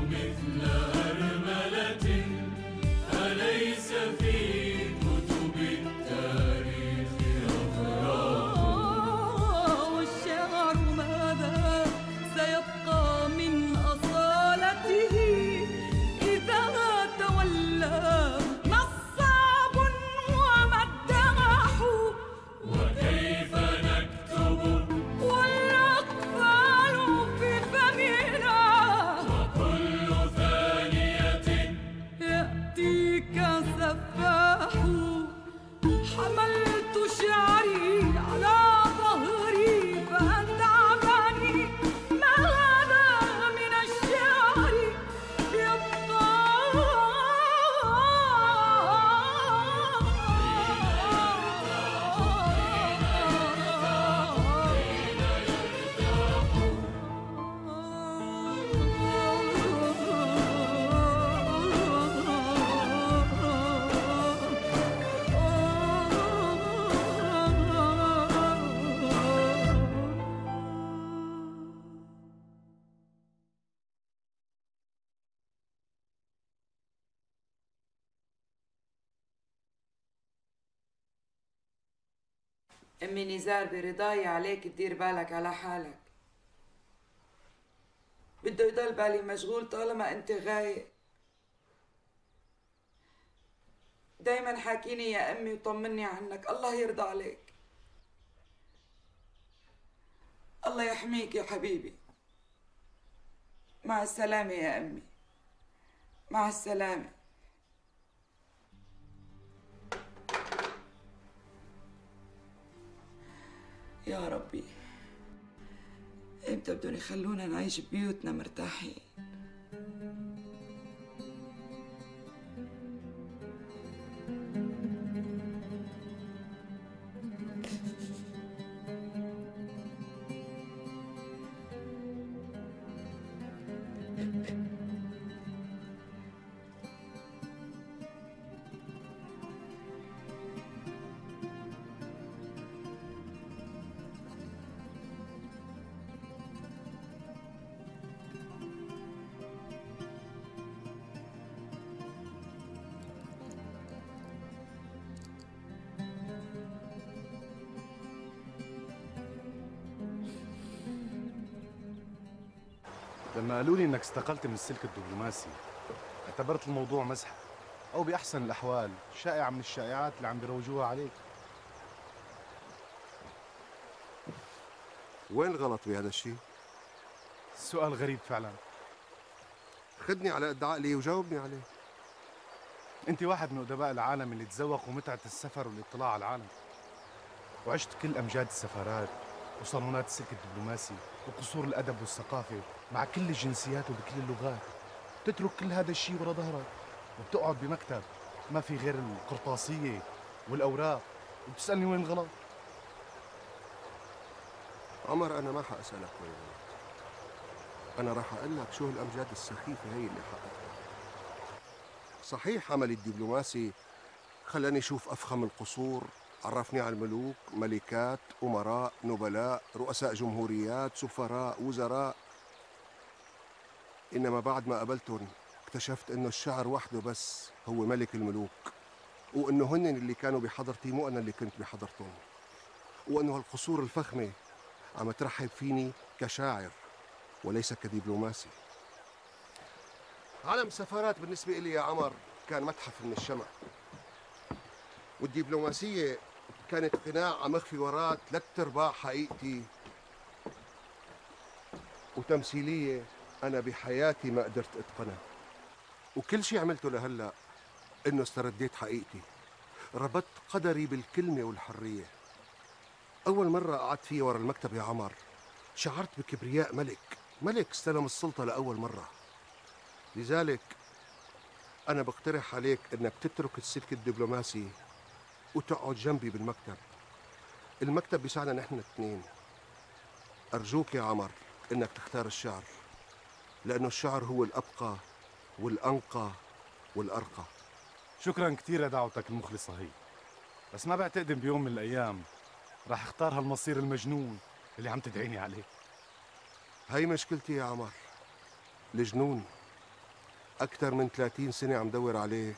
مثل أرملة أليس في كتب التاريخ أفراح؟ والشعر ماذا سيبقى من أصالته إذا تولى نصاب ومداح؟ وكيف نكتب والأطفال في فمنا وكل ثانية يأتيك سفاح؟ حملت شعري على ظهري فأتعبني، ما هذا من الشعر يبقى؟ أمي نزار برضاي عليك تدير بالك على حالك. بده يضل بالي مشغول طالما أنت غايب. دايما حاكيني يا أمي وطمني عنك، الله يرضى عليك. الله يحميك يا حبيبي. مع السلامة يا أمي، مع السلامة. يا ربي، امتى بدهم يخلونا نعيش ببيوتنا مرتاحين؟ لما قالوا لي انك استقلت من السلك الدبلوماسي اعتبرت الموضوع مزحة، او باحسن الاحوال شائعة من الشائعات اللي عم بيروجوها عليك. وين الغلط بهذا الشيء؟ السؤال غريب فعلا. خدني على قد عقلي وجاوبني عليه. انت واحد من ادباء العالم اللي تذوقوا متعة السفر والاطلاع على العالم، وعشت كل امجاد السفارات وصالونات السلك الدبلوماسي وقصور الادب والثقافة مع كل الجنسيات وبكل اللغات. تترك كل هذا الشيء ورا ظهرك وبتقعد بمكتب ما في غير القرطاسية والأوراق وبتسألني وين الغلط؟ عمر، أنا ما حأسألك وين الغلط. أنا راح أقول لك شو الأمجاد السخيفة هي اللي حققتها. صحيح عملي الدبلوماسي خلاني أشوف أفخم القصور، عرفني على الملوك، ملكات، أمراء، نبلاء، رؤساء جمهوريات، سفراء، وزراء. إنما بعد ما قابلتهم اكتشفت إنه الشعر وحده بس هو ملك الملوك، وإنه هن اللي كانوا بحضرتي مو أنا اللي كنت بحضرتهم، وإنه هالقصور الفخمة عم ترحب فيني كشاعر وليس كدبلوماسي. عالم السفارات بالنسبة إلي يا عمر كان متحف من الشمع، والدبلوماسية كانت قناع عم أخفي وراه 3/4 حقيقتي، وتمثيلية أنا بحياتي ما قدرت أتقنها. وكل شيء عملته لهلأ إنه استرديت حقيقتي، ربطت قدري بالكلمة والحرية. أول مرة قعدت فيه ورا المكتب يا عمر شعرت بكبرياء ملك استلم السلطة لأول مرة. لذلك أنا بقترح عليك إنك تترك السلك الدبلوماسي وتقعد جنبي بالمكتب. المكتب بيساعدنا نحن الاثنين. أرجوك يا عمر إنك تختار الشعر، لأنه الشعر هو الأبقى والأنقى والأرقى. شكرا كثير لدعوتك المخلصة هي، بس ما بعتقد بيوم من الأيام راح اختار هالمصير المجنون اللي عم تدعيني عليه. هاي مشكلتي يا عمر، الجنون. أكثر من 30 سنة عم دور عليه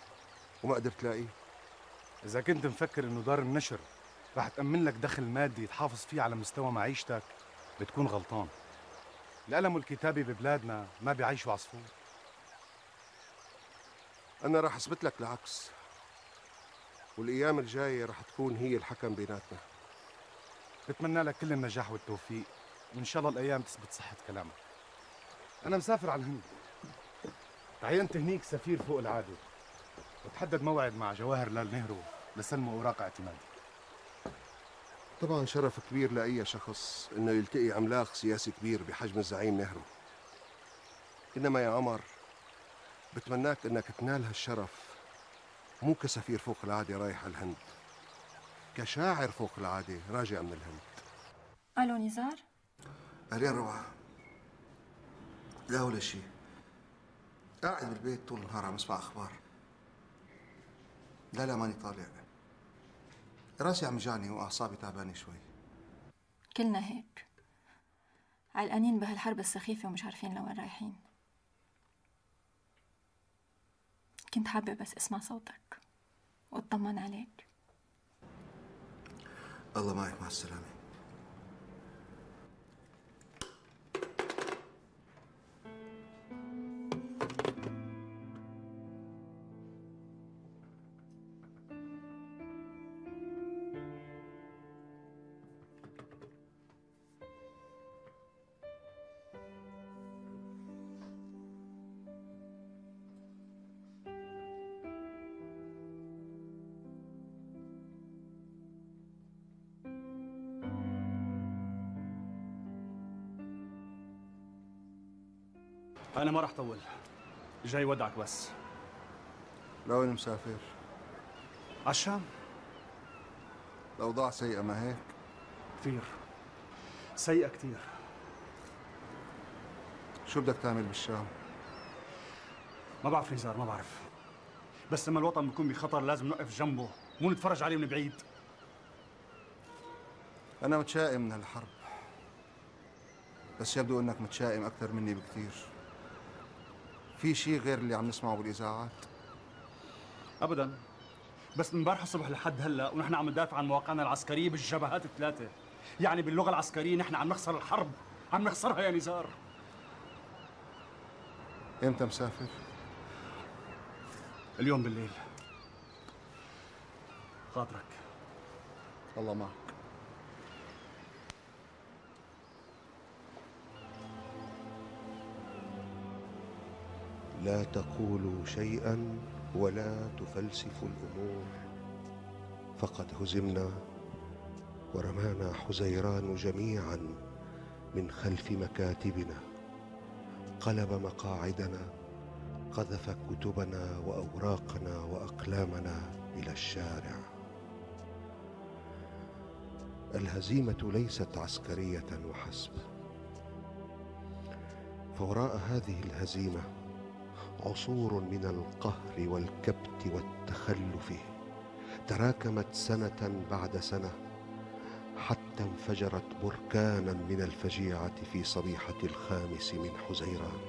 وما قدرت لاقيه. إذا كنت مفكر إنه دار النشر رح تأمن لك دخل مادي تحافظ فيه على مستوى معيشتك بتكون غلطان. القلم والكتابة ببلادنا ما بيعيشوا عصفور. أنا رح أثبت لك العكس، والأيام الجاية رح تكون هي الحكم بيناتنا. بتمنى لك كل النجاح والتوفيق، وإن شاء الله الأيام تثبت صحة كلامك. أنا مسافر على الهند، تعينت هنيك سفير فوق العادة، وتحدد موعد مع جواهر لال نهرو لسلم أوراق اعتمادي. طبعا شرف كبير لأي شخص إنه يلتقي عملاق سياسي كبير بحجم الزعيم نهرو. إنما يا عمر، بتمناك إنك تنال هالشرف مو كسفير فوق العادة رايح على الهند، كشاعر فوق العادة راجع من الهند. ألو نزار؟ أهلين روعة. لا ولا شيء، قاعد بالبيت طول النهار عم اسمع أخبار. لا ماني طالع، راسي عم يجعني وأعصابي تعبانة شوي. كلنا هيك، علقانين بهالحرب السخيفة ومش عارفين لوين رايحين. كنت حابة بس اسمع صوتك واطمن عليك. الله معك، مع السلامة. أنا ما رح طول، جاي ودعك بس. لوين مسافر؟ عالشام. الأوضاع سيئة ما هيك؟ كثير سيئة كثير. شو بدك تعمل بالشام؟ ما بعرف نزار، ما بعرف، بس لما الوطن بيكون بخطر لازم نوقف جنبه، مو نتفرج عليه من بعيد. أنا متشائم من هالحرب، بس يبدو إنك متشائم أكثر مني بكثير. في شيء غير اللي عم نسمعه بالإذاعات؟ أبداً، بس من امبارح الصبح لحد هلا ونحن عم ندافع عن مواقعنا العسكرية بالجبهات الثلاثة. يعني باللغة العسكرية نحن عم نخسر الحرب، عم نخسرها يا نزار. إمتى مسافر؟ اليوم بالليل. خاطرك. الله معك. لا تقولوا شيئا ولا تفلسفوا الأمور، فقد هزمنا ورمانا حزيران جميعا من خلف مكاتبنا، قلب مقاعدنا، قذف كتبنا وأوراقنا وأقلامنا إلى الشارع. الهزيمة ليست عسكرية وحسب، فوراء هذه الهزيمة عصور من القهر والكبت والتخلف تراكمت سنة بعد سنة، حتى انفجرت بركانا من الفجيعة في صبيحة 5 من حزيران.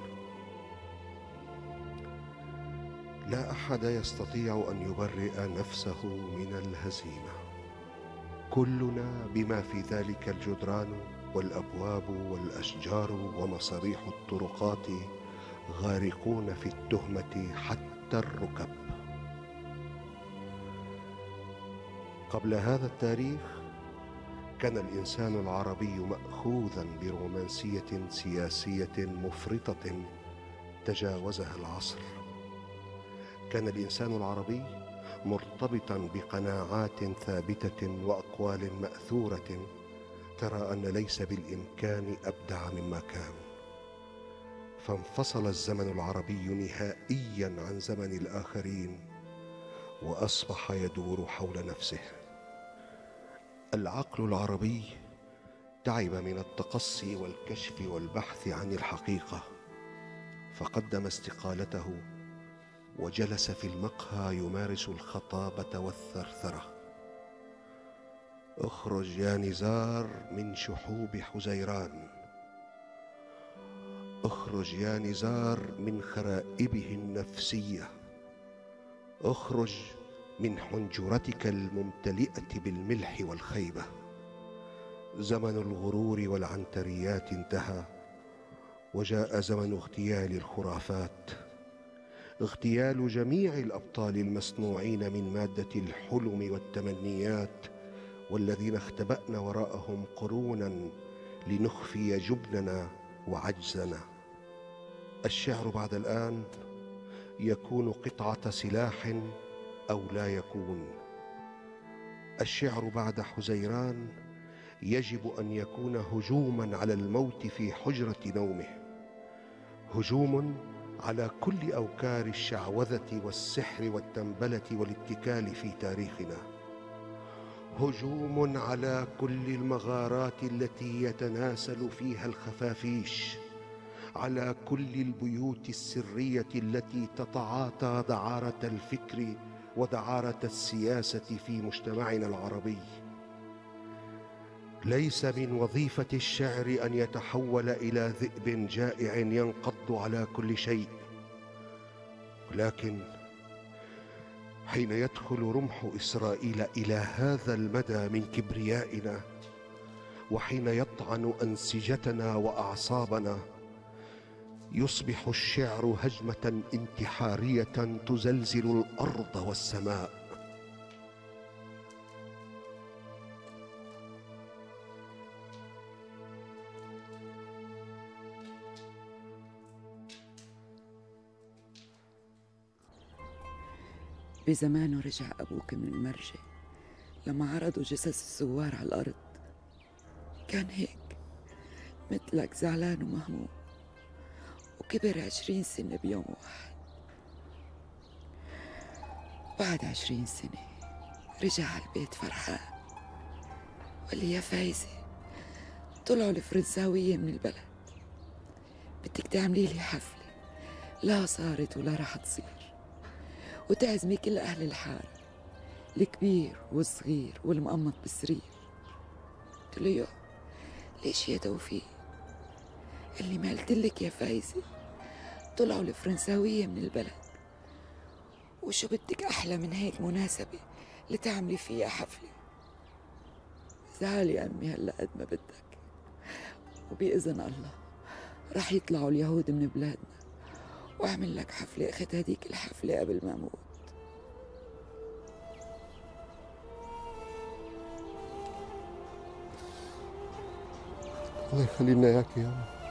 لا أحد يستطيع أن يبرئ نفسه من الهزيمة. كلنا بما في ذلك الجدران والأبواب والأشجار ومصابيح الطرقات غارقون في التهمة حتى الركب. قبل هذا التاريخ كان الإنسان العربي مأخوذا برومانسية سياسية مفرطة تجاوزها العصر. كان الإنسان العربي مرتبطا بقناعات ثابتة وأقوال مأثورة ترى أن ليس بالإمكان أبدع مما كان. فانفصل الزمن العربي نهائيا عن زمن الآخرين وأصبح يدور حول نفسه. العقل العربي تعب من التقصي والكشف والبحث عن الحقيقة، فقدم استقالته وجلس في المقهى يمارس الخطابة والثرثرة. اخرج يا نزار من شحوب حزيران، اخرج يا نزار من خرائبه النفسية، اخرج من حنجرتك الممتلئة بالملح والخيبة. زمن الغرور والعنتريات انتهى، وجاء زمن اغتيال الخرافات، اغتيال جميع الأبطال المصنوعين من مادة الحلم والتمنيات، والذين اختبأنا وراءهم قرونا لنخفي جبننا وعجزنا. الشعر بعد الآن يكون قطعة سلاح أو لا يكون. الشعر بعد حزيران يجب أن يكون هجوما على الموت في حجرة نومه، هجوم على كل أوكار الشعوذة والسحر والتنبلة والاتكال في تاريخنا، هجوم على كل المغارات التي يتناسل فيها الخفافيش، على كل البيوت السرية التي تتعاطى دعارة الفكر ودعارة السياسة في مجتمعنا العربي. ليس من وظيفة الشعر أن يتحول إلى ذئب جائع ينقض على كل شيء، ولكن حين يدخل رمح إسرائيل إلى هذا المدى من كبريائنا، وحين يطعن أنسجتنا وأعصابنا، يصبح الشعر هجمة انتحارية تزلزل الأرض والسماء. بزمانه رجع أبوك من المرجع لما عرضوا جثث الزوار على الأرض، كان هيك مثلك زعلان ومهموم، وكبر 20 سنة بيوم واحد. بعد 20 سنة رجع على البيت فرحان، وقال لي يا فايزة طلعوا الفرنساوية من البلد، بدك تعملي لي حفلة لا صارت ولا رح تصير، وتعزمي كل أهل الحارة، الكبير والصغير والمقمط بالسرير. قلت له يو ليش يا توفيق؟ قال لي ما قلتلك يا فايزة طلعوا الفرنساوية من البلد، وشو بدك أحلى من هيك مناسبة لتعملي فيها حفلة؟ زعل يا أمي هلأ قد ما بدك، وبإذن الله رح يطلعوا اليهود من بلادنا وأعمل لك حفلة أخذ هديك الحفلة قبل ما أموت. الله يخلي لنا إياك يا أمي.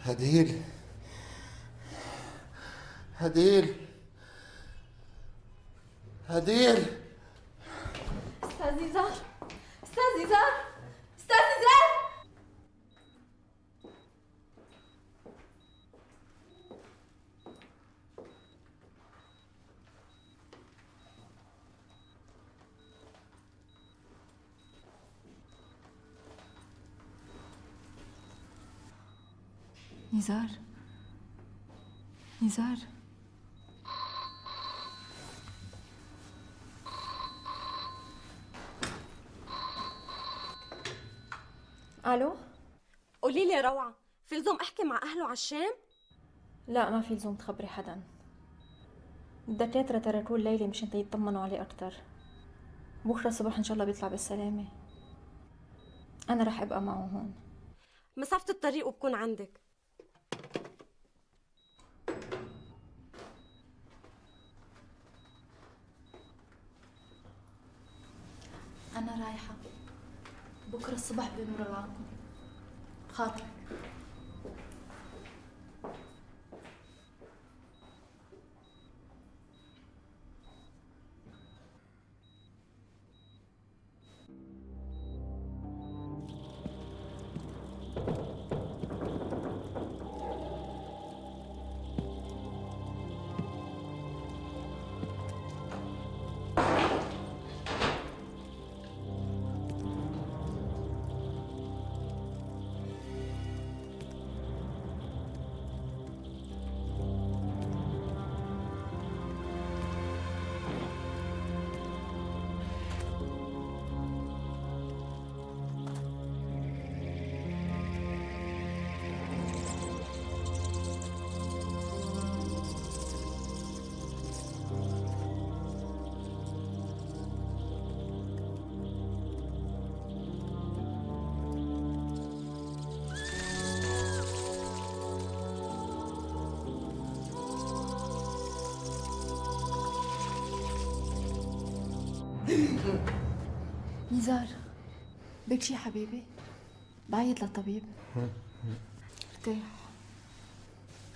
هديل هديل هديل. أستاذ نزار، أستاذ نزار، أستاذ نزار. نزار، نزار. الو، قولي لي روعه، في لزوم احكي مع اهله على الشام؟ لا، ما في لزوم تخبري حدا. الدكاترة تركوه الليلة مشان يطمنوا عليه أكتر. بكرة الصبح إن شاء الله بيطلع بالسلامة. أنا رح أبقى معه هون. مسافة الطريق وبكون عندك. أنا رايحة، بكرة الصبح بمر لعنكم. خاطرك. نزار، بك شي حبيبي؟ بعيط للطبيب. ارتاح،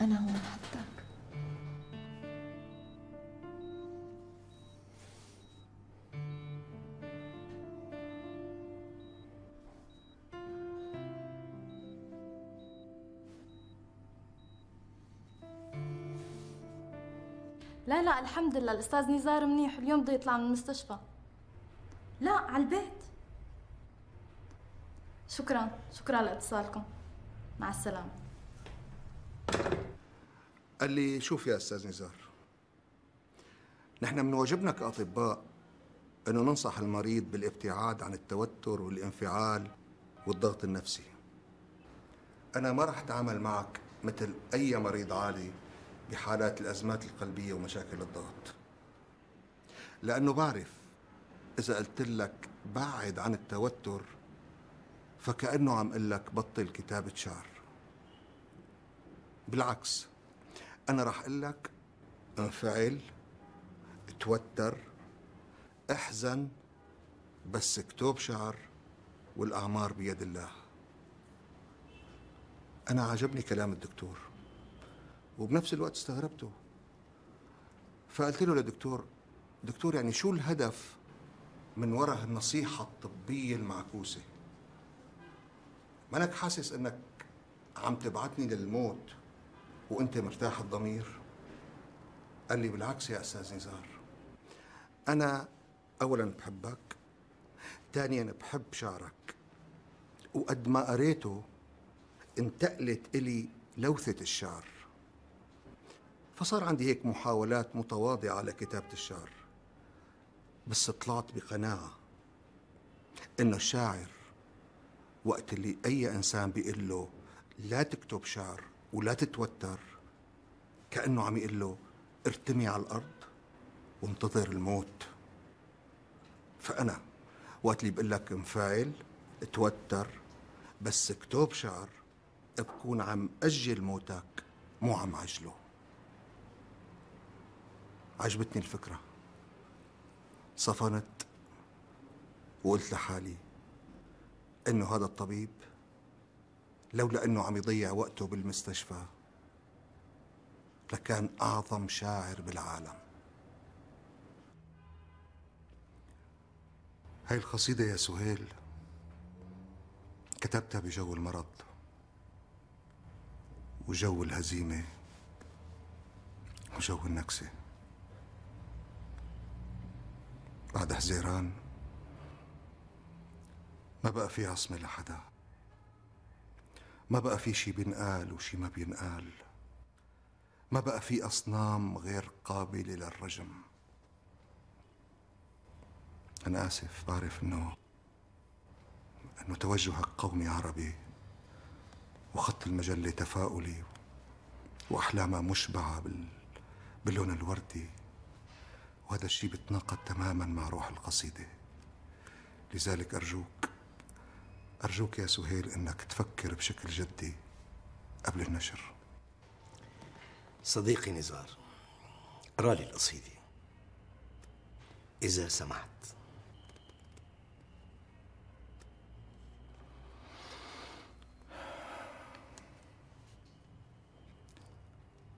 أنا هون حدك. لا لا الحمد لله، الأستاذ نزار منيح، اليوم بده يطلع من المستشفى. لا، على البيت. شكرا لاتصالكم. مع السلامة. قال لي شوف يا أستاذ نزار، نحن من واجبنا كأطباء أنه ننصح المريض بالابتعاد عن التوتر والانفعال والضغط النفسي. أنا ما رح أتعامل معك مثل أي مريض عادي بحالات الأزمات القلبية ومشاكل الضغط، لأنه بعرف إذا قلت لك بعد عن التوتر فكأنه عم قل لك بطل كتابة شعر. بالعكس، أنا رح قل لك انفعل، توتر، احزن، بس اكتب شعر، والأعمار بيد الله. أنا عجبني كلام الدكتور وبنفس الوقت استغربته، فقلت له دكتور يعني شو الهدف من وراء النصيحة الطبية المعكوسة؟ مانك حاسس انك عم تبعتني للموت وانت مرتاح الضمير؟ قال لي بالعكس يا أستاذ نزار، أنا أولا بحبك، ثانيا بحب شعرك، وقد ما قريته انتقلت إلي لوثة الشعر، فصار عندي هيك محاولات متواضعة لكتابة الشعر، بس طلعت بقناعة إنه الشاعر وقت اللي أي إنسان بيقول له لا تكتب شعر ولا تتوتر، كأنه عم يقول له ارتمي على الأرض وانتظر الموت. فأنا وقت اللي بقول لك انفعل، توتر، بس اكتب شعر، بكون عم أجل موتك مو عم عجله. عجبتني الفكرة، صفنت وقلت لحالي إنه هذا الطبيب لولا أنه عم يضيع وقته بالمستشفى لكان أعظم شاعر بالعالم. هاي القصيدة يا سهيل كتبتها بجو المرض وجو الهزيمة وجو النكسة. بعد حزيران ما بقى في عصمة لحدا، ما بقى في شي بينقال وشي ما بينقال، ما بقى في أصنام غير قابلة للرجم. أنا آسف، بعرف إنه توجهك قومي عربي وخط المجلة تفاؤلي وأحلامها مشبعة باللون الوردي، وهذا الشيء بيتناقض تماما مع روح القصيدة. لذلك أرجوك يا سهيل إنك تفكر بشكل جدي قبل النشر. صديقي نزار، اقرأ لي القصيدة إذا سمحت.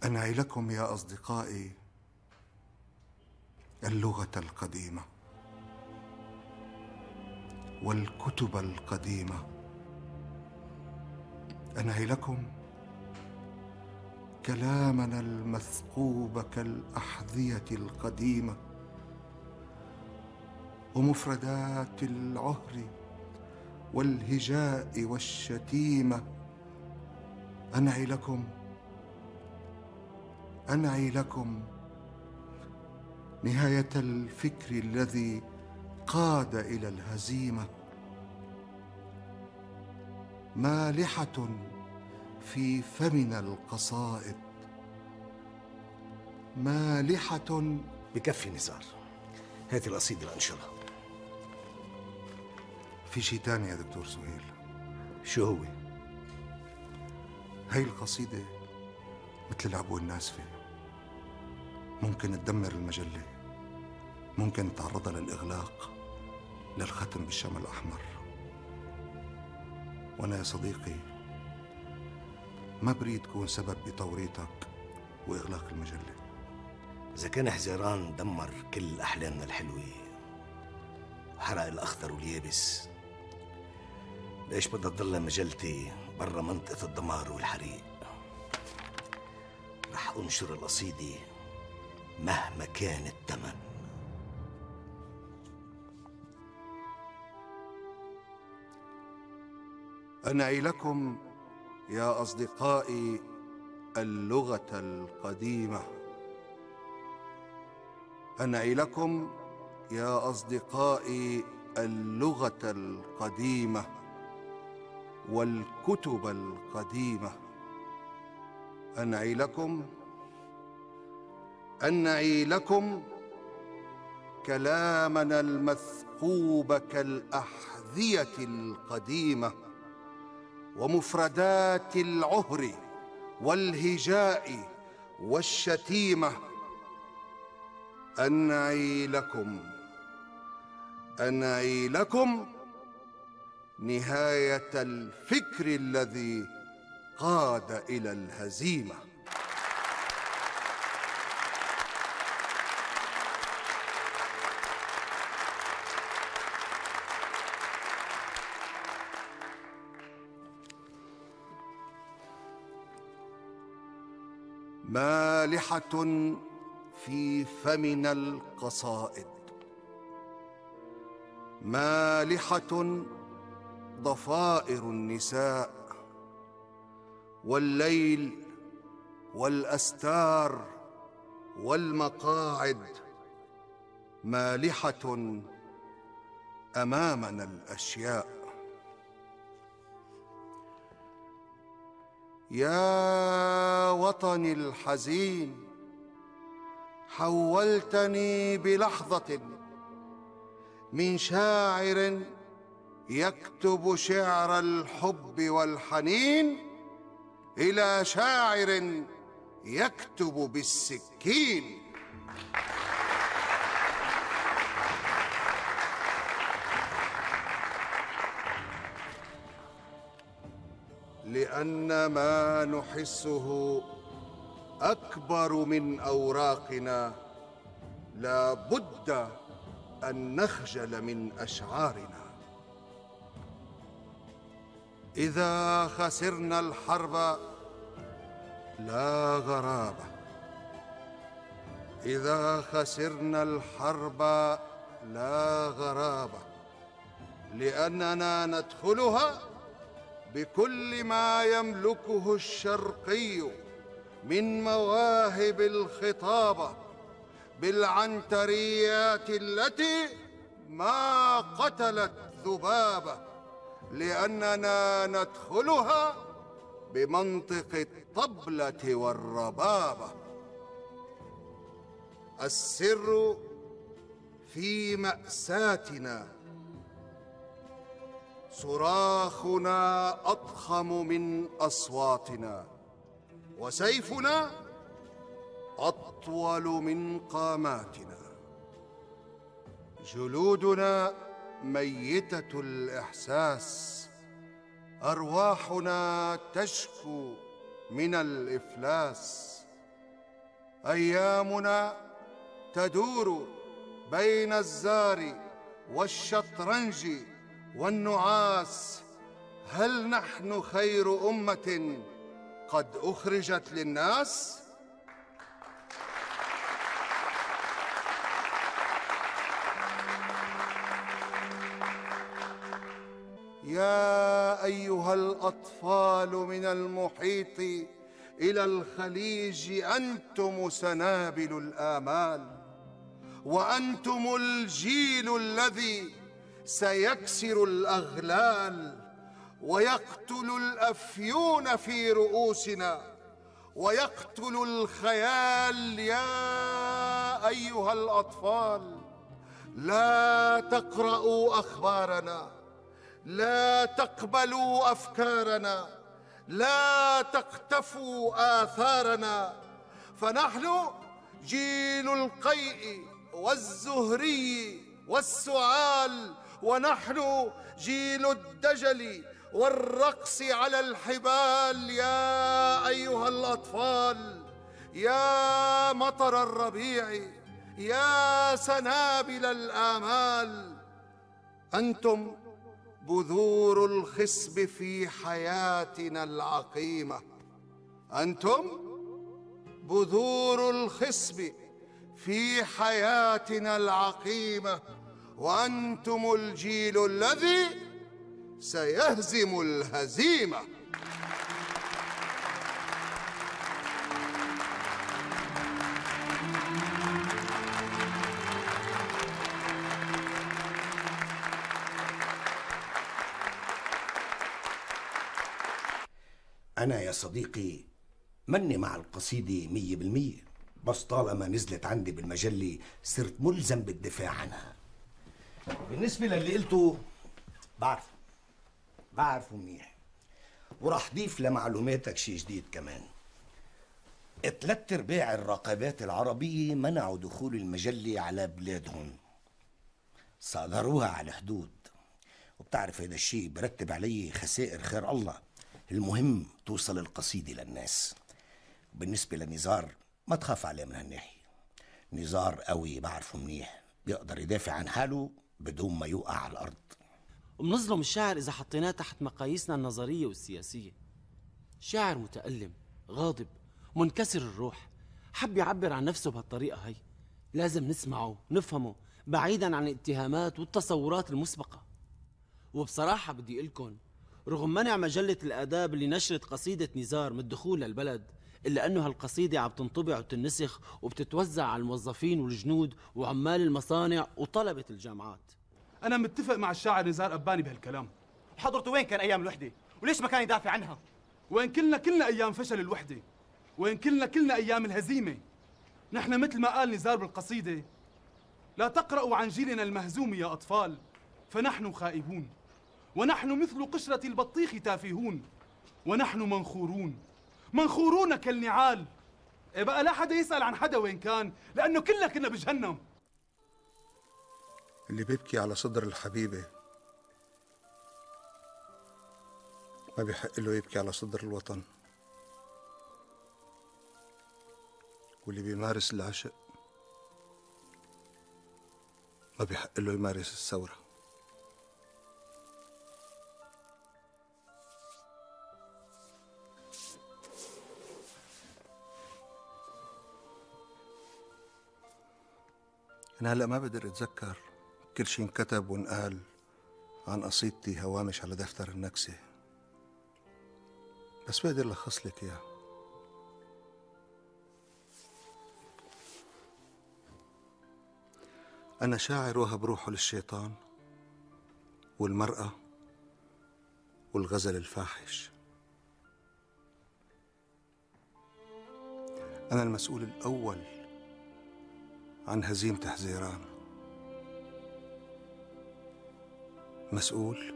أنعي لكم يا أصدقائي اللغة القديمة والكتب القديمة. أنعي لكم كلامنا المثقوب كالأحذية القديمة ومفردات العهر والهجاء والشتيمة. أنعي لكم نهاية الفكر الذي قاد إلى الهزيمة، مالحة في فمنا القصائد، مالحة. بكفي نزار، هاتي القصيدة لأنشرها. في شي تاني يا دكتور سهيل. شو هو؟ هاي القصيدة مثل العبوة الناسفة، ممكن تدمر المجلة، ممكن تعرضها للإغلاق، للختم بالشمع الأحمر. وأنا يا صديقي ما بريد تكون سبب بتوريطك وإغلاق المجلة. إذا كان حزيران دمر كل أحلامنا الحلوة وحرق الأخضر واليابس، ليش بدها تضل مجلتي برا منطقة الدمار والحريق؟ رح أنشر القصيدة مهما كان الثمن. أنعي لكم يا أصدقائي اللغة القديمة. أنعي لكم يا أصدقائي اللغة القديمة والكتب القديمة. أنعي لكم كلامنا المثقوب كالأحذية القديمة ومفردات العهر والهجاء والشتيمة. أنعي لكم نهاية الفكر الذي قاد إلى الهزيمة. مالحة في فمنا القصائد، مالحة ضفائر النساء والليل والأستار والمقاعد، مالحة أمامنا الأشياء. يا وطني الحزين، حولتني بلحظة من شاعر يكتب شعر الحب والحنين إلى شاعر يكتب بالسكين. لأن ما نحسه أكبر من أوراقنا، لا بد أن نخجل من أشعارنا. إذا خسرنا الحرب لا غرابة، إذا خسرنا الحرب لا غرابة، لأننا ندخلها بكل ما يملكه الشرقي من مواهب الخطابة، بالعنتريات التي ما قتلت ذبابة، لأننا ندخلها بمنطق الطبلة والربابة. السر في مأساتنا، صراخنا أضخم من أصواتنا، وسيفنا أطول من قاماتنا. جلودنا ميتة الإحساس، أرواحنا تشكو من الإفلاس. أيامنا تدور بين الزار والشطرنج والنعاس. هل نحن خير أمة قد أخرجت للناس؟ يا أيها الأطفال من المحيط إلى الخليج، أنتم سنابل الآمال، وأنتم الجيل الذي سيكسر الأغلال ويقتل الأفيون في رؤوسنا ويقتل الخيال. يا أيها الأطفال، لا تقرأوا أخبارنا، لا تقبلوا أفكارنا، لا تقتفوا آثارنا، فنحن جيل القيء والزهري والسعال، ونحن جيل الدجل والرقص على الحبال. يا أيها الأطفال، يا مطر الربيع، يا سنابل الآمال، أنتم بذور الخصب في حياتنا العقيمة، أنتم بذور الخصب في حياتنا العقيمة، وأنتم الجيل الذي سيهزم الهزيمة. أنا يا صديقي مني مع القصيدة 100%، بس طالما نزلت عندي بالمجلة صرت ملزم بالدفاع عنها. بالنسبة للي قلته بعرفه منيح، وراح ضيف لمعلوماتك شي جديد كمان. 3/4 الراقبات العربية منعوا دخول المجلة على بلادهم، صادروها على الحدود، وبتعرف هذا الشيء برتب عليه خسائر خير الله. المهم توصل القصيدة للناس. بالنسبة لنزار ما تخاف عليه من هالناحية، نزار قوي بعرفه منيح، بيقدر يدافع عن حاله بدون ما يوقع على الأرض. ومنظلم الشاعر إذا حطيناه تحت مقاييسنا النظرية والسياسية. شاعر متألم، غاضب، منكسر الروح، حب يعبر عن نفسه بهالطريقة هي. لازم نسمعه نفهمه بعيدا عن الاتهامات والتصورات المسبقة. وبصراحة بدي أقولكن رغم منع مجلة الآداب اللي نشرت قصيدة نزار من الدخول للبلد، إلا أنه هالقصيدة عم تنطبع وتنسخ وبتتوزع على الموظفين والجنود وعمال المصانع وطلبة الجامعات. أنا متفق مع الشاعر نزار أباني بهالكلام. حضرته وين كان أيام الوحدة؟ وليش ما كان يدافع عنها؟ وين كلنا أيام فشل الوحدة؟ وين كلنا أيام الهزيمة؟ نحن مثل ما قال نزار بالقصيدة: لا تقرأوا عن جيلنا المهزوم يا أطفال، فنحن خائبون، ونحن مثل قشرة البطيخ تافهون، ونحن منخورون كالنعال. إيه بقى لا حدا يسأل عن حدا وين كان، لأنه كلنا كنا بجهنم. اللي بيبكي على صدر الحبيبة ما بيحق له يبكي على صدر الوطن، واللي بيمارس العشق ما بيحق له يمارس الثورة. أنا هلأ ما بقدر أتذكر كل شي انكتب وانقال عن قصيدتي هوامش على دفتر النكسة، بس بقدر لخص لك إياه. أنا شاعر وهب روحه للشيطان والمرأة والغزل الفاحش. أنا المسؤول الأول عن هزيمة حزيران، مسؤول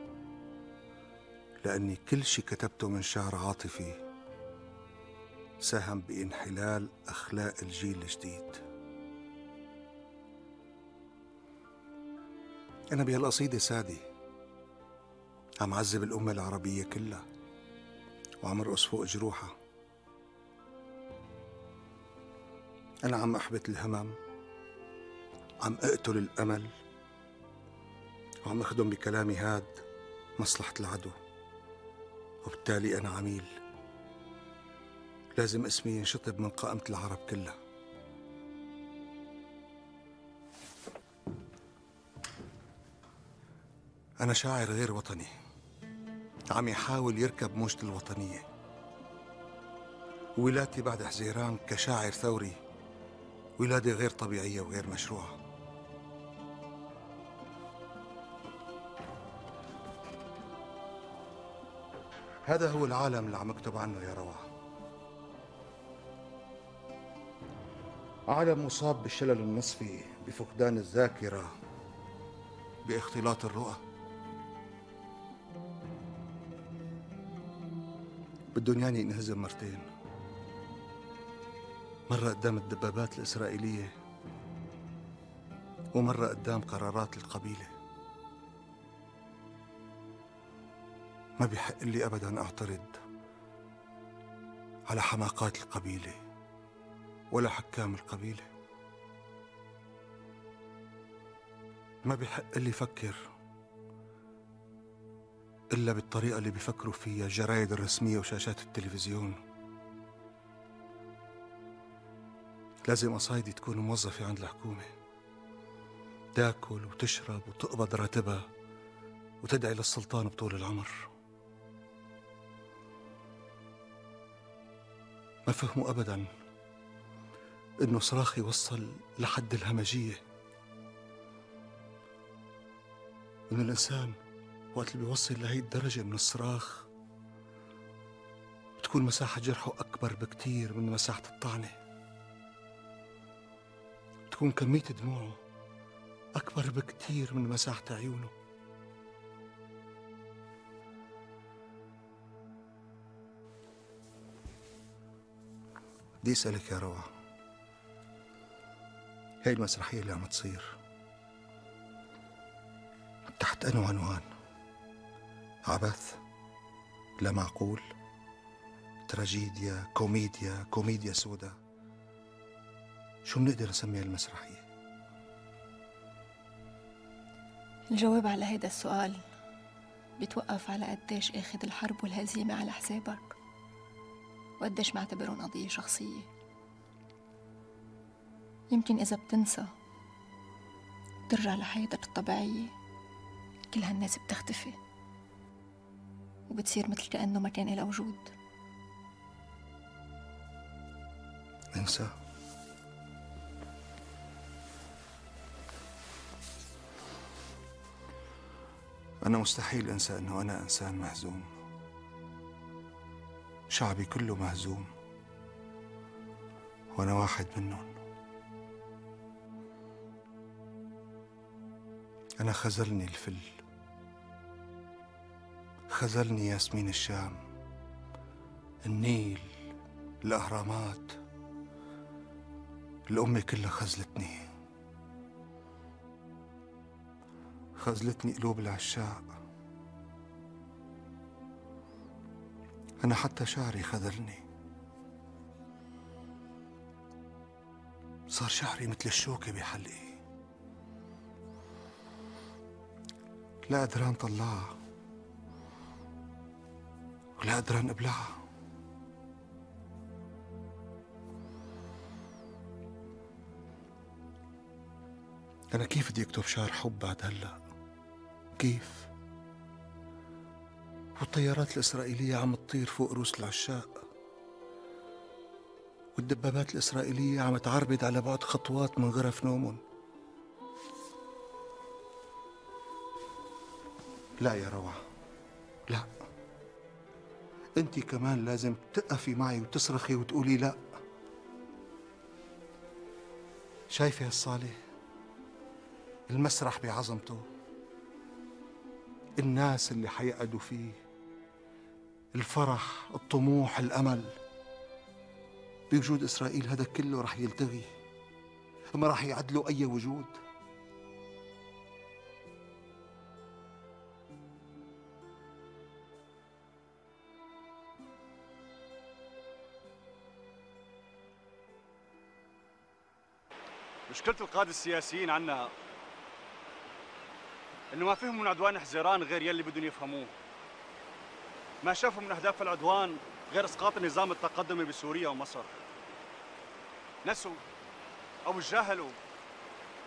لأني كل شي كتبته من شعر عاطفي ساهم بانحلال أخلاق الجيل الجديد. أنا بهالقصيدة سادي عم عذب الأمة العربية كلها وعم ارقص فوق جروحها. أنا عم أحبط الهمم، عم أقتل الأمل، وعم أخدم بكلامي هاد مصلحة العدو، وبالتالي أنا عميل لازم اسمي ينشطب من قائمة العرب كلها. أنا شاعر غير وطني عم يحاول يركب موجة الوطنية. ولادتي بعد حزيران كشاعر ثوري ولادة غير طبيعية وغير مشروعة. هذا هو العالم اللي عم اكتب عنه يا روعة، عالم مصاب بالشلل النصفي، بفقدان الذاكرة، باختلاط الرؤى. بدهم ياني انهزم مرتين، مرة قدام الدبابات الإسرائيلية ومرة قدام قرارات القبيلة. ما بيحق لي أبداً أعترض على حماقات القبيلة ولا حكام القبيلة. ما بيحق لي أفكر إلا بالطريقة اللي بيفكروا فيها الجرايد الرسمية وشاشات التلفزيون. لازم قصايدي تكون موظفة عند الحكومة، تاكل وتشرب وتقبض راتبها وتدعي للسلطان بطول العمر. ما فهموا أبداً إنه صراخي وصل لحد الهمجية، إنه الإنسان وقت اللي بيوصل لهي الدرجة من الصراخ بتكون مساحة جرحه أكبر بكتير من مساحة الطعنة، بتكون كمية دموعه أكبر بكتير من مساحة عيونه. بدي أسألك يا روعة، هاي المسرحية اللي عم تصير تحت أنو عنوان؟ عبث؟ لا معقول؟ تراجيديا؟ كوميديا؟ كوميديا سودا؟ شو بنقدر نسميها المسرحية؟ الجواب على هذا السؤال بيتوقف على قديش اخذ الحرب والهزيمة على حسابك وقديش معتبرهم قضية شخصية. يمكن إذا بتنسى ترجع لحياتك الطبيعية كل هالناس بتختفي وبتصير مثل كأنه ما كان إلها وجود. انسى؟ أنا مستحيل أنسى أنه أنا إنسان مهزوم، شعبي كله مهزوم وأنا واحد منهم. أنا خذلني الفل، خذلني ياسمين الشام، النيل، الأهرامات، الأمة كلها خذلتني، خذلتني قلوب العشاق أنا حتى شعري خذلني، صار شعري مثل الشوكة بحلقي، لا قدران طلعها ولا قدران ابلعها. أنا كيف بدي أكتب شعر حب بعد هلأ؟ كيف؟ والطيارات الإسرائيلية عم تطير فوق رؤوس العشاق، والدبابات الإسرائيلية عم تعربد على بعد خطوات من غرف نومهم. لا يا روعة، لا، أنت كمان لازم تقفي معي وتصرخي وتقولي لا. شايفة هالصالة؟ المسرح بعظمته، الناس اللي حيقعدوا فيه، الفرح، الطموح، الأمل. بوجود إسرائيل هذا كله رح يلتغي، ما رح يعدلوا أي وجود. مشكلة القادة السياسيين عنا إنه ما فهموا من عدوان حزيران غير يلي بدهم يفهموه. ما شافوا من أهداف العدوان غير إسقاط النظام التقدمي بسوريا ومصر. نسوا أو تجاهلوا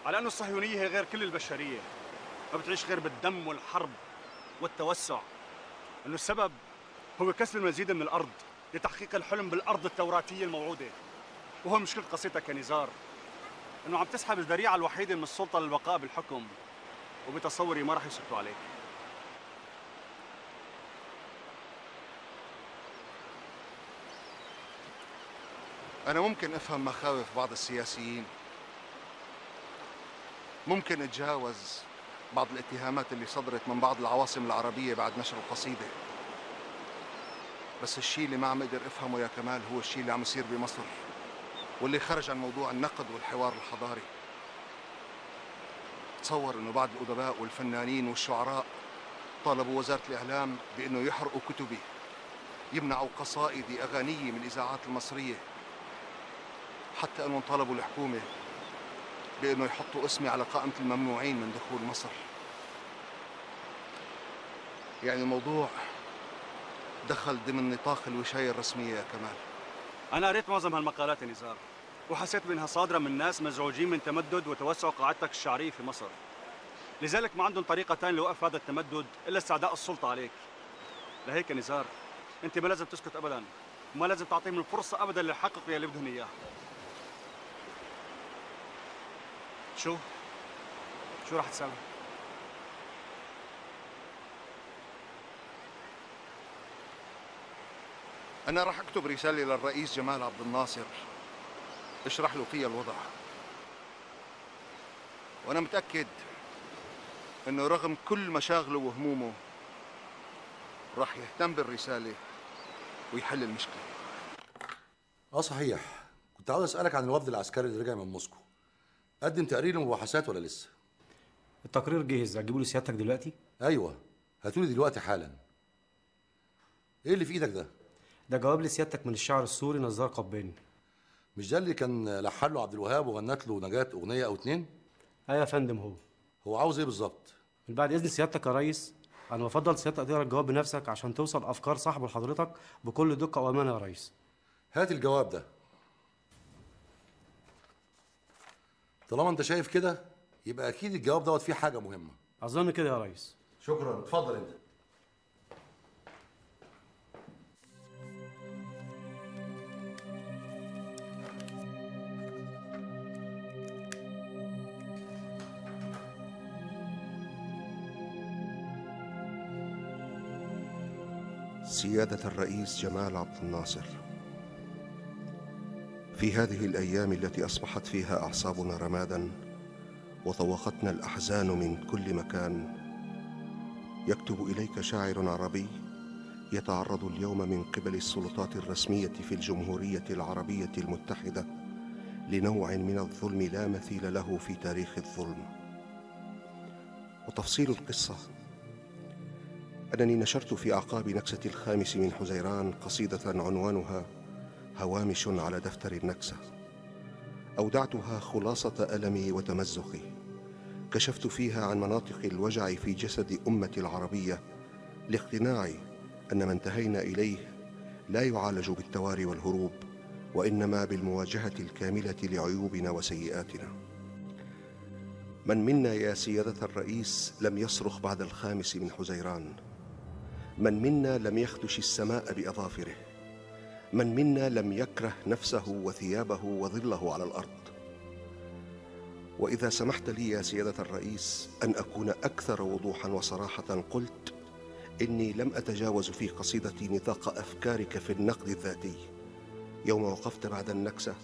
على أنه الصهيونية هي غير كل البشرية، ما بتعيش غير بالدم والحرب والتوسع. إنه السبب هو كسر المزيد من الأرض لتحقيق الحلم بالأرض التوراتية الموعودة. وهو مشكلة قصتك يا نزار، إنه عم تسحب الذريعة الوحيدة من السلطة للبقاء بالحكم، وبتصوري ما رح يسكتوا عليك. أنا ممكن أفهم مخاوف بعض السياسيين، ممكن أتجاوز بعض الاتهامات اللي صدرت من بعض العواصم العربية بعد نشر القصيدة، بس الشيء اللي ما عم أقدر أفهمه يا كمال هو الشيء اللي عم يصير بمصر، واللي خرج عن موضوع النقد والحوار الحضاري. تصور إنه بعض الأدباء والفنانين والشعراء طالبوا وزارة الإعلام بأنه يحرقوا كتبي، يمنعوا قصائدي أغانيي من الإذاعات المصرية، حتى أنهم طالبوا الحكومة بأنه يحطوا اسمي على قائمة الممنوعين من دخول مصر. يعني الموضوع دخل ضمن نطاق الوشاية الرسمية يا كمال. أنا قريت معظم هالمقالات يا نزار، وحسيت بأنها صادرة من ناس مزعوجين من تمدد وتوسع قاعدتك الشعرية في مصر، لذلك ما عندهم طريقة ثانية لوقف هذا التمدد إلا استعداء السلطة عليك. لهيك يا نزار أنت ما لازم تسكت أبداً، وما لازم تعطيهم الفرصة أبداً ليحققوا يلي بدهم إياه. شو رح تساوي؟ أنا رح أكتب رسالة للرئيس جمال عبد الناصر اشرح له فيها الوضع، وأنا متأكد إنه رغم كل مشاغله وهمومه رح يهتم بالرسالة ويحل المشكلة. صحيح، كنت عاوز أسألك عن الوفد العسكري اللي رجع من موسكو. قدم تقرير مباحثات ولا لسه؟ التقرير جاهز، هتجيبه لسيادتك دلوقتي؟ أيوه، هاتولي دلوقتي حالا. إيه اللي في إيدك ده؟ ده جواب لسيادتك من الشاعر السوري نزار قباني. مش ده اللي كان لحن له عبد الوهاب وغنت له نجاة أغنية أو اتنين؟ أيوة يا فندم. هو عاوز إيه بالظبط؟ من بعد إذن سيادتك يا ريس، أنا بفضل سيادتك تقرا الجواب بنفسك عشان توصل أفكار صاحبه لحضرتك بكل دقة وأمانة يا ريس. هات الجواب ده. طالما أنت شايف كده يبقى أكيد الجواب دوت فيه حاجة مهمة. أظن كده يا ريس. شكرا، اتفضل أنت. سيادة الرئيس جمال عبد الناصر، في هذه الأيام التي أصبحت فيها أعصابنا رمادا وطوقتنا الأحزان من كل مكان، يكتب إليك شاعر عربي يتعرض اليوم من قبل السلطات الرسمية في الجمهورية العربية المتحدة لنوع من الظلم لا مثيل له في تاريخ الظلم. وتفصيل القصة أنني نشرت في أعقاب نكسة 5 من حزيران قصيدة عنوانها هوامش على دفتر النكسة. أودعتها خلاصة ألمي وتمزقي، كشفت فيها عن مناطق الوجع في جسد أمة العربية لاقتناعي أن ما انتهينا إليه لا يعالج بالتواري والهروب، وإنما بالمواجهة الكاملة لعيوبنا وسيئاتنا. من منا يا سيادة الرئيس لم يصرخ بعد 5 من حزيران؟ من منا لم يخدش السماء بأظافره؟ من منا لم يكره نفسه وثيابه وظله على الأرض؟ وإذا سمحت لي يا سيادة الرئيس أن أكون أكثر وضوحا وصراحة، قلت إني لم أتجاوز في قصيدتي نطاق أفكارك في النقد الذاتي. يوم وقفت بعد النكسة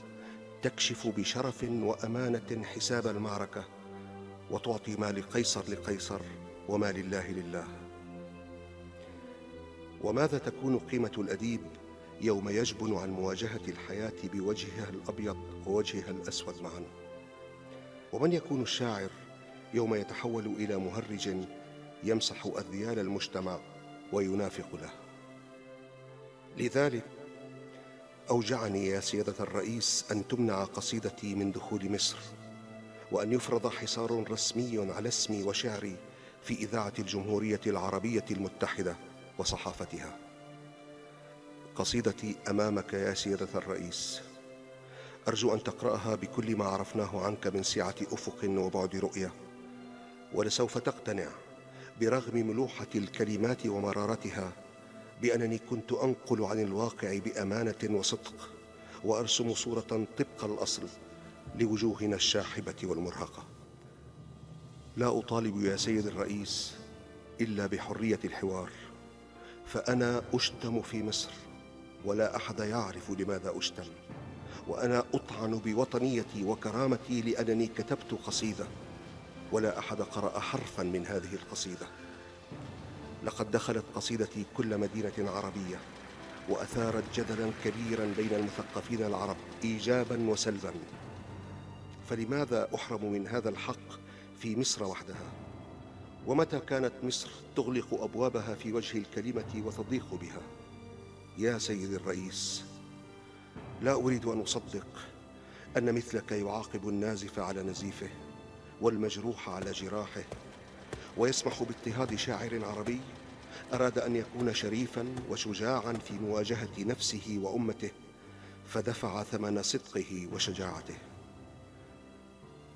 تكشف بشرف وأمانة حساب المعركة، وتعطي ما لقيصر لقيصر وما لله لله. وماذا تكون قيمة الأديب يوم يجبن عن مواجهة الحياة بوجهها الأبيض ووجهها الأسود معا؟ ومن يكون الشاعر يوم يتحول إلى مهرج يمسح أذيال المجتمع وينافق له؟ لذلك أوجعني يا سيادة الرئيس أن تمنع قصيدتي من دخول مصر، وأن يفرض حصار رسمي على اسمي وشعري في إذاعة الجمهورية العربية المتحدة وصحافتها. قصيدتي أمامك يا سيادة الرئيس، أرجو أن تقرأها بكل ما عرفناه عنك من سعة أفق وبعد رؤية، ولسوف تقتنع برغم ملوحة الكلمات ومرارتها بأنني كنت أنقل عن الواقع بأمانة وصدق، وأرسم صورة طبق الأصل لوجوهنا الشاحبة والمرهقة. لا أطالب يا سيد الرئيس إلا بحرية الحوار، فأنا أشتم في مصر ولا أحد يعرف لماذا أشتم، وأنا أطعن بوطنيتي وكرامتي لأنني كتبت قصيدة ولا أحد قرأ حرفا من هذه القصيدة. لقد دخلت قصيدتي كل مدينة عربية وأثارت جدلا كبيرا بين المثقفين العرب إيجابا وسلبا، فلماذا أحرم من هذا الحق في مصر وحدها؟ ومتى كانت مصر تغلق أبوابها في وجه الكلمة وتضيق بها؟ يا سيد الرئيس، لا أريد أن أصدق أن مثلك يعاقب النازف على نزيفه والمجروح على جراحه، ويسمح باضطهاد شاعر عربي أراد أن يكون شريفا وشجاعا في مواجهة نفسه وأمته، فدفع ثمن صدقه وشجاعته.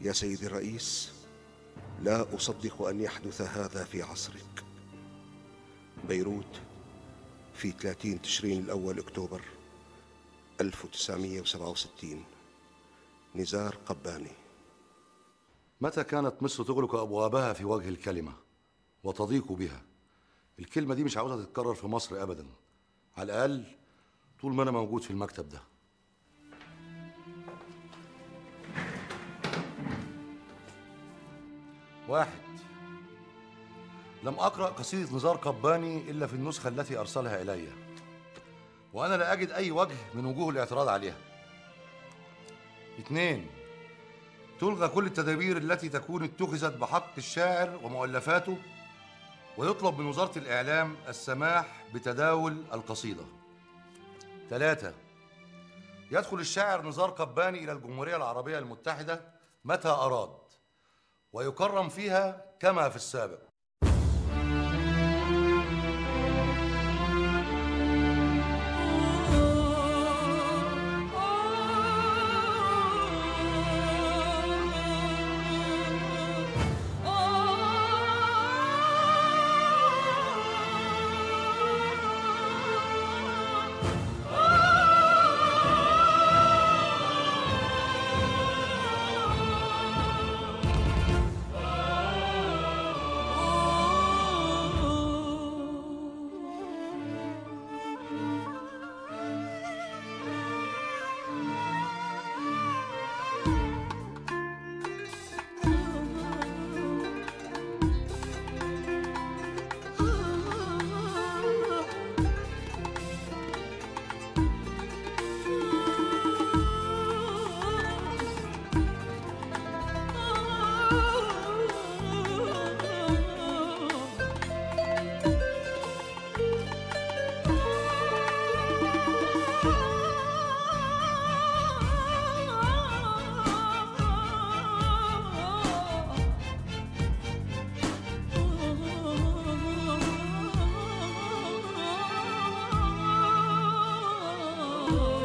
يا سيد الرئيس، لا أصدق أن يحدث هذا في عصرك. بيروت، في 30 تشرين الأول أكتوبر 1967. نزار قباني. متى كانت مصر تغلق أبوابها في وجه الكلمة وتضيق بها؟ الكلمة دي مش عاوزة تتكرر في مصر أبدا، على الأقل طول ما أنا موجود في المكتب ده. واحد، لم أقرأ قصيدة نزار قباني إلا في النسخة التي أرسلها إلي، وأنا لا أجد أي وجه من وجوه الاعتراض عليها. 2، تلغى كل التدابير التي تكون اتخذت بحق الشاعر ومؤلفاته، ويطلب من وزارة الإعلام السماح بتداول القصيدة. 3، يدخل الشاعر نزار قباني إلى الجمهورية العربية المتحدة متى أراد، ويكرم فيها كما في السابق. النهار